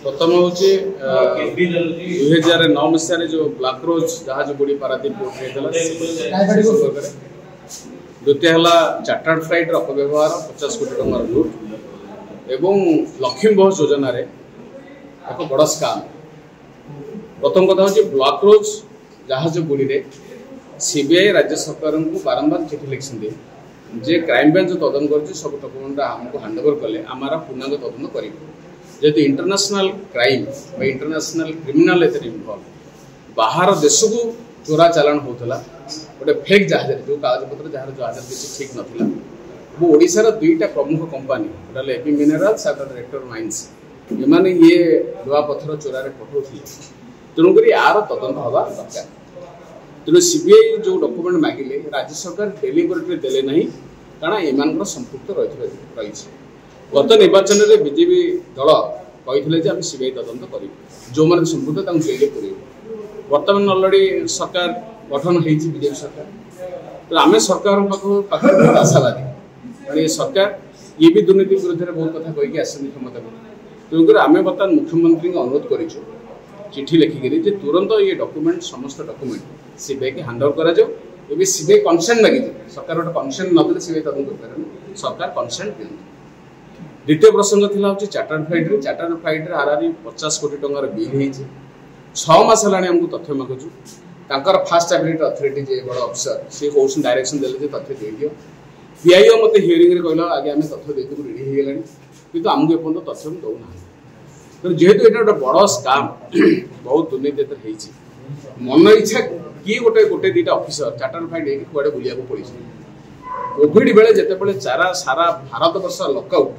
ପ୍ରଥମ ହେଉଛି 2009 ମସିହାରେ ଯେଉଁ ବ୍ଲାକ୍ ରୋଜ୍ ଜାହାଜ ବୁଡ଼ି ପାରାଦୀପ ପୋର୍ଟରେ ହେଇଥିଲା ସେ ସମ୍ପର୍କରେ। ଦ୍ୱିତୀୟ ହେଲା ଚାର୍ଟାର୍ଡ ଫ୍ଲାଇଟ୍ର ଅପବ୍ୟବହାର, 50 କୋଟି ଟଙ୍କାର ଲୁଟ୍ ଏବଂ ଲକ୍ଷ୍ମୀ ବସ୍ ଯୋଜନାରେ ଏକ ବଡ଼ ସ୍କାମ୍। ପ୍ରଥମ କଥା ହେଉଛି ବ୍ଲାକ୍ ରୋଜ୍ ଜାହାଜ ବୁଡ଼ିରେ ସିବିଆଇ ରାଜ୍ୟ ସରକାରଙ୍କୁ ବାରମ୍ବାର ଚିଠି ଲେଖିଛନ୍ତି ଯେ କ୍ରାଇମବ୍ରାଞ୍ଚ ଯେଉଁ ତଦନ୍ତ କରୁଛି ସବୁ ଡକୁମେଣ୍ଟ ଆମକୁ ହ୍ୟାଣ୍ଡଓଭର କଲେ ଆମର ପୂର୍ଣ୍ଣାଙ୍ଗ ତଦନ୍ତ କରିବୁ। ଯେହେତୁ ଇଣ୍ଟରନ୍ୟାସନାଲ କ୍ରାଇମ୍ ବା ଇଣ୍ଟରନ୍ୟାସନାଲ କ୍ରିମିନାଲ ଏଥିରେ ଇନଭଲ୍ଭ, ବାହାର ଦେଶକୁ ଚୋରା ଚାଲାଣ ହେଉଥିଲା ଗୋଟେ ଫେକ୍ ଜାହାଜରେ, ଯେଉଁ କାଗଜପତ୍ର ଯାହାର ଜାହାଜରେ କିଛି ଠିକ୍ ନଥିଲା। ଏବଂ ଓଡ଼ିଶାର ଦୁଇଟା ପ୍ରମୁଖ କମ୍ପାନୀ, ଗୋଟେ ହେଲା ଏପି ମିନେରାଲ୍ସ ଆଉ ଗୋଟେ ରେକ୍ଟର ମାଇନ୍ସ, ଏମାନେ ଇଏ ଲୁହାପଥର ଚୋରାରେ ପଠାଉଥିଲେ। ତେଣୁକରି ୟାର ତଦନ୍ତ ହେବା ଦରକାର। ତେଣୁ ସିବିଆଇ ଯେଉଁ ଡକୁମେଣ୍ଟ ମାଗିଲେ ରାଜ୍ୟ ସରକାର ଡେଲିବରେଟଲି ଦେଲେ ନାହିଁ, କାରଣ ଏମାନଙ୍କର ସମ୍ପୃକ୍ତ ରହିଛି। ଗତ ନିର୍ବାଚନରେ ବିଜେପି ଦଳ କହିଥିଲେ ଯେ ଆମେ ସିବିଆଇ ତଦନ୍ତ କରିବୁ, ଯେଉଁମାନେ ସମ୍ପୃକ୍ତ ତାଙ୍କୁ ଜେଲରେ ପୁରେଇବୁ। ବର୍ତ୍ତମାନ ଅଲରେଡ଼ି ସରକାର ଗଠନ ହେଇଛି, ବିଜେପି ସରକାର। ତେଣୁ ଆମେ ସରକାରଙ୍କ ପାଖରେ ବହୁତ ଆଶାବାଦୀ, କାରଣ ଏ ସରକାର ଇଏ ବି ଦୁର୍ନୀତି ବିରୁଦ୍ଧରେ ବହୁତ କଥା କହିକି ଆସିଛନ୍ତି କ୍ଷମତାକୁ। ତେଣୁକରି ଆମେ ବର୍ତ୍ତମାନ ମୁଖ୍ୟମନ୍ତ୍ରୀଙ୍କୁ ଅନୁରୋଧ କରିଛୁ ଚିଠି ଲେଖିକିରି ଯେ ତୁରନ୍ତ ଇଏ ଡକୁମେଣ୍ଟ, ସମସ୍ତ ଡକୁମେଣ୍ଟ ସିବିଆଇକି ହ୍ୟାଣ୍ଡ ଓଭର କରାଯାଉ। ଏବେ ସିବିଆଇ କନସେଣ୍ଟ ମାଗିଛି, ସରକାର ଗୋଟେ କନସେଣ୍ଟ ନଦେଲେ ସିବିଆଇ ତଦନ୍ତ କରିପାରିବନି, ସରକାର କନସେଣ୍ଟ ଦିଅନ୍ତୁ। ଦ୍ୱିତୀୟ ପ୍ରସଙ୍ଗ ଥିଲା ହେଉଛି ଚାର୍ଟାର୍ଡ ଫ୍ଲାଇଟ୍ରେ। ଚାର୍ଟାର୍ଡ ଫ୍ଲାଇଟ୍ରେ ହାରାହାରି 50 କୋଟି ଟଙ୍କାର ବିଲ୍ ହେଇଛି। 6 ମାସ ହେଲାଣି ଆମକୁ ତଥ୍ୟ ମାଗୁଛୁ। ତାଙ୍କର ଫାଷ୍ଟ ଆପ୍ରିଲେଟ୍ ଅଥରିଟି ଯିଏ ବଡ଼ ଅଫିସର ସିଏ କହୁଛନ୍ତି, ଡାଇରେକ୍ସନ୍ ଦେଲେ ଯେ ତଥ୍ୟ ଦେଇଦିଅ। ପିଆଇଓ ମୋତେ ହିୟରିଂରେ କହିଲା ଆଜ୍ଞା ଆମେ ତଥ୍ୟ ଦେଇଦେବୁ, ରେଡ଼ି ହେଇଗଲାଣି, କିନ୍ତୁ ଆମକୁ ଏପର୍ଯ୍ୟନ୍ତ ତଥ୍ୟ ଦେଉନାହାନ୍ତି। ତେଣୁ ଯେହେତୁ ଏଇଟା ଗୋଟେ ବଡ଼ ସ୍କାମ୍, ବହୁତ ଦୁର୍ନୀତି ଏଥିରେ ହେଇଛି, ମନ ଇଚ୍ଛା କିଏ ଗୋଟେ ଗୋଟେ ଦୁଇଟା ଅଫିସର ଚାର୍ଟାର୍ଡ ଫ୍ଲାଇଟ୍ ହେଇକି କୁଆଡ଼େ ବୁଲିବାକୁ ପଳେଇଛନ୍ତି। କୋଭିଡ ବେଳେ ଯେତେବେଳେ ସାରା ଭାରତବର୍ଷ ଲକଆଉଟ୍,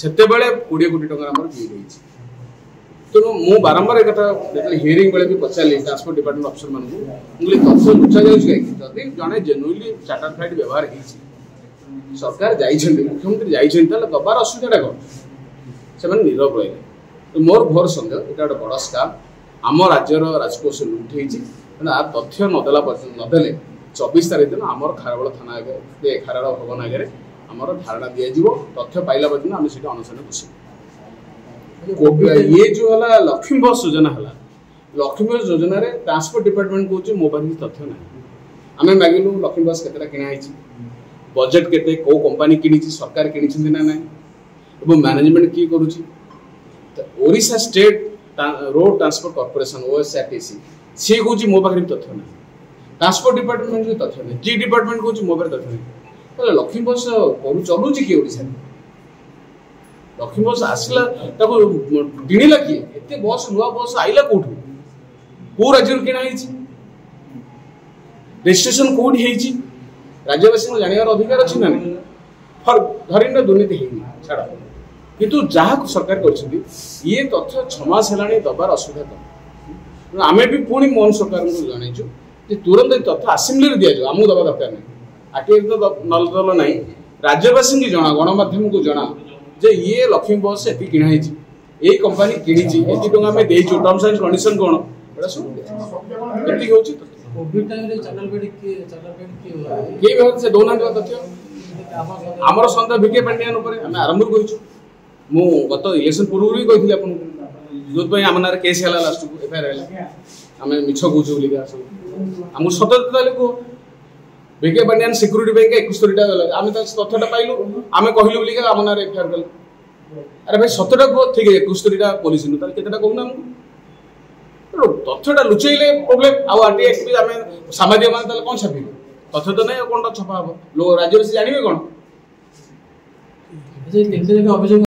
ସେତେବେଳେ 20 କୋଟି ଟଙ୍କାର ଆମର ବିଲ୍ ହେଇଛି। ତେଣୁ ମୁଁ ବାରମ୍ବାର ଏ କଥା ଯେତେବେଳେ ହିୟରିଂ ବେଳେ ବି ପଚାରିଲି ଟ୍ରାନ୍ସପୋର୍ଟ ଡିପାର୍ଟମେଣ୍ଟ ଅଫିସରମାନଙ୍କୁ, ମୁଁ କହିଲି ତଥ୍ୟ ଲୁଚା ଯାଉଛି କାହିଁକି? ଯଦି ଜଣେ ଜେନୁଇନଲି ଚାର୍ଟାର୍ଡ ଫ୍ଲାଇଟ୍ ବ୍ୟବହାର ହେଇଛି, ସରକାର ଯାଇଛନ୍ତି, ମୁଖ୍ୟମନ୍ତ୍ରୀ ଯାଇଛନ୍ତି, ତାହେଲେ ଦବାର ଅସୁବିଧାଟା କ'ଣ? ସେମାନେ ନୀରବ ରହିଲେ। ତ ମୋର ଘୋର ସନ୍ଦେହ ଏଇଟା ଗୋଟେ ବଡ଼ ସ୍କାମ୍, ଆମ ରାଜ୍ୟର ରାଜକୋଷ ଲୁଟ୍ ହେଇଛି। ତେଣୁ ଆ ତଥ୍ୟ ନଦେଲା ପର୍ଯ୍ୟନ୍ତ ନଦେଲେ 24 ତାରିଖ ଦିନ ଆମର ଖାରବେଳ ଥାନା ଆଗରେ, ଖାରବେଳ ଭବନ ଆଗରେ ଆମର ଧାରଣା ଦିଆଯିବ। ତଥ୍ୟ ପାଇଲା ପର୍ଯ୍ୟନ୍ତ ଆମେ ସେଠି ଅନଶନ ବସିବୁ। ଇଏ ଯେଉଁ ହେଲା ଲକ୍ଷ୍ମୀ ବସ୍ ଯୋଜନା ହେଲା, ଲକ୍ଷ୍ମୀ ବସ୍ ଯୋଜନାରେ ଟ୍ରାନ୍ସପୋର୍ଟ ଡିପାର୍ଟମେଣ୍ଟ କହୁଛି ମୋ ପାଖରେ କିଛି ତଥ୍ୟ ନାହିଁ। ଆମେ ମାଗିଲୁ ଲକ୍ଷ୍ମୀ ବସ୍ କେତେଟା କିଣା ହେଇଛି, ବଜେଟ୍ କେତେ, କେଉଁ କମ୍ପାନୀ କିଣିଛି, ସରକାର କିଣିଛନ୍ତି ନା ନାହିଁ, ଏବଂ ମ୍ୟାନେଜମେଣ୍ଟ କିଏ କରୁଛି। Odisha state road transport corporation OSRTC ସିଏ କହୁଛି ମୋ ପାଖରେ ବି ତଥ୍ୟ ନାହିଁ, ଟ୍ରାନ୍ସପୋର୍ଟ ଡିପାର୍ଟମେଣ୍ଟ ବି ତଥ୍ୟ ନାହିଁ, ଜି ଡିପାର୍ଟମେଣ୍ଟ କହୁଛି ମୋ ପାଖରେ ତଥ୍ୟ ନାହିଁ। ତାହେଲେ ଲକ୍ଷ୍ମୀ ବସ୍ ଚଲଉଛି କିଏ ଓଡ଼ିଶାରେ? ଲକ୍ଷ୍ମୀ ବସ୍ ଆସିଲା, ତାକୁ କିଣିଲା କିଏ? ଏତେ ବସ୍, ନୂଆ ବସ୍ ଆଇଲା କୋଉଠୁ? କୋଉ ରାଜ୍ୟରୁ କିଣା ହେଇଛି? ରେଜିଷ୍ଟ୍ରେସନ କୋଉଠି ହେଇଛି? ରାଜ୍ୟବାସୀଙ୍କୁ ଜାଣିବାର ଅଧିକାର ଅଛି ନା ନାହିଁ? ଧରିନିଅ ଦୁର୍ନୀତି ହେଇନି, ଛାଡ଼, କିନ୍ତୁ ଯାହାକୁ ସରକାର କରିଛନ୍ତି ଇଏ ତଥ୍ୟ 6 ମାସ ହେଲାଣି ଦେବାର ଅସୁବିଧା କଣ? ତେଣୁ ଆମେ ବି ପୁଣି ମୋହନ ସରକାରଙ୍କୁ ଜଣାଇଛୁ ଯେ ତୁରନ୍ତ ଏ ତଥ୍ୟ ଆସେମ୍ବଲିରେ ଦିଆଯାଉ, ଆମକୁ ଦେବା ଦରକାର ନାହିଁ। ଆର୍ଟିଆଇ ତ ନଦେଲ ନାହିଁ, ରାଜ୍ୟବାସୀଙ୍କୁ ଜଣା, ଗଣମାଧ୍ୟମକୁ ଜଣା ଯେ ଇଏ ଲକ୍ଷ୍ମୀ ବସ୍ ଏତିକି କିଣା ହେଇଛି, ଏଇ କମ୍ପାନୀ କିଣିଛି, ଏତିକି ଟଙ୍କା ଆମେ ଦେଇଛୁ, ଟର୍ମସ ଆଣ୍ଡ କଣ୍ଡିସନ କ'ଣ, ଏଇଟା ସବୁ ଏତିକି ହେଉଛି। କିଏ ବି ସେ ଦଉନାହାନ୍ତି ତଥ୍ୟ। ଆମର ସନ୍ଦେହ ଭିକେ ପାଣ୍ଡିଆନ ଉପରେ ଆମେ ଆରମ୍ଭରୁ କହିଛୁ। ମୁଁ ଗତ ଇଲେକ୍ସନ ପୂର୍ବରୁ ବି କହିଥିଲି ଆପଣଙ୍କୁ, ଯେଉଁଥିପାଇଁ ଆମ ନାଁରେ କେସ୍ ହେଲା, ଲାଷ୍ଟକୁ ଏଫଆଇଆର ହେଲା, ଆମେ ମିଛ କହୁଛୁ ବୋଲିକା ସବୁ। ଆମକୁ ସତ ତାହେଲେ କୁହ, ଭିକେ ପାଣ୍ଡିଆନ ସିକ୍ୟୁରିଟି ପାଇଁକା 71ଟା ଗଲା, ଆମେ ତା ତଥ୍ୟଟା ପାଇଲୁ, ଆମେ କହିଲୁ ବୋଲିକା ଆମ ନାଁରେ ଏଫଆଇଆର କଲେ। ଆରେ ଭାଇ ସତଟା କୁହ, ଠିକ ଅଛି 71ଟା ପୋଲିସ ନୁହଁ, ତାହେଲେ କେତେଟା କହୁନ ଆମକୁ? ତେଣୁ ତଥ୍ୟଟା ଲୁଚେଇଲେ ପ୍ରୋବ୍ଲେମ। ଆଉ ଆରଟିଆଇ ବି ଆମେ ସାମ୍ବାଦିକମାନେ ତାହେଲେ କ'ଣ ଛାପିବୁ? ତଥ୍ୟ ତ ନାହିଁ, ଆଉ କ'ଣଟା ଛପା ହବ? ଲୋକ ରାଜ୍ୟବାସୀ ଜାଣିବେ କ'ଣ? ଅଭିଯୋଗ।